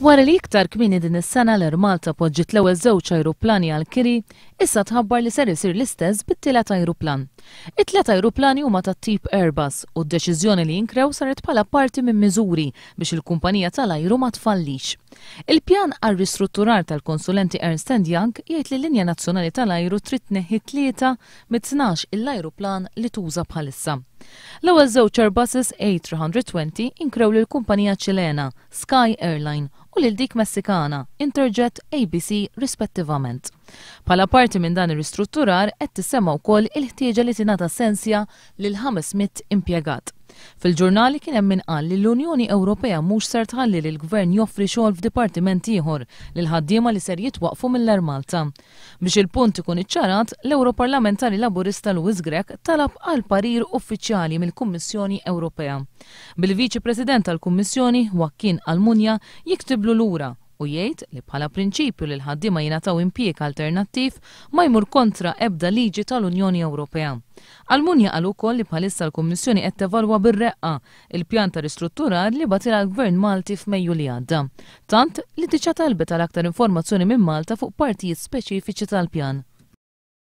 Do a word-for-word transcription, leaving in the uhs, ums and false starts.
Wara li iktar kmieni din is-sena l-Air Malta poġġiet l-ewwel żewġ ajruplani għal kiri, issa tħabbar li ser isir l-istess bit-tielet ajruplan. It-tliet ajruplani huma tat-tip Airbus u d-deċiżjoni li jinkrew saret bħala parti minn miżuri biex il-kumpanija tal-ajru ma tfallix. Il-pjan għal ristrutturar tal-konsulenti Ernst and Young jgħid li l-linja nazzjonali tal-ajru trid tneħħi tlieta mit-tnax il-ajruplan li tuża bħalissa. L-ewwel żewġ Airbuses A tliet mija u għoxrin inkrew lil kumpanija Ċilena Sky Airline u lil dik Messikana Interjet A B C rispettivament. Bħala parti minn dan ir-ristrutturar qed tissemma wkoll il-ħtieġa li tingħata sensja lil ħames mitt impjegat. Fil-ġurnali kien hemm min qal li l-Unjoni Ewropea mhux ser tħalli lil gvern joffri xogħol f'dipartiment ieħor lil ħaddiema li ser jitwaqfu mill-Air Malta. Biex il-punt ikun iċċarat, l-Europarlamentari Laburista Louis Grech talab għal parir uffiċjali mill-Kummissjoni Ewropea. Bil-Viċi President tal-Kummissjoni Joaquin Almunia jiktiblu lura u jgħid li bħala prinċipju li l-ħaddiema jingħataw impjieg alternattiv ma jmur kontra ebda liġi tal-Unjoni Ewropea. Almunia qal ukoll li bħalissa l-Kummissjoni qed tevalwa bir-reqqa il-pjan ta' ristrutturar li bagħtilha l-Gvern Malti f'Mejju li għadda. Tant li diġà talbet għal aktar informazzjoni minn Malta fuq partijiet speċifiċi tal-pjan.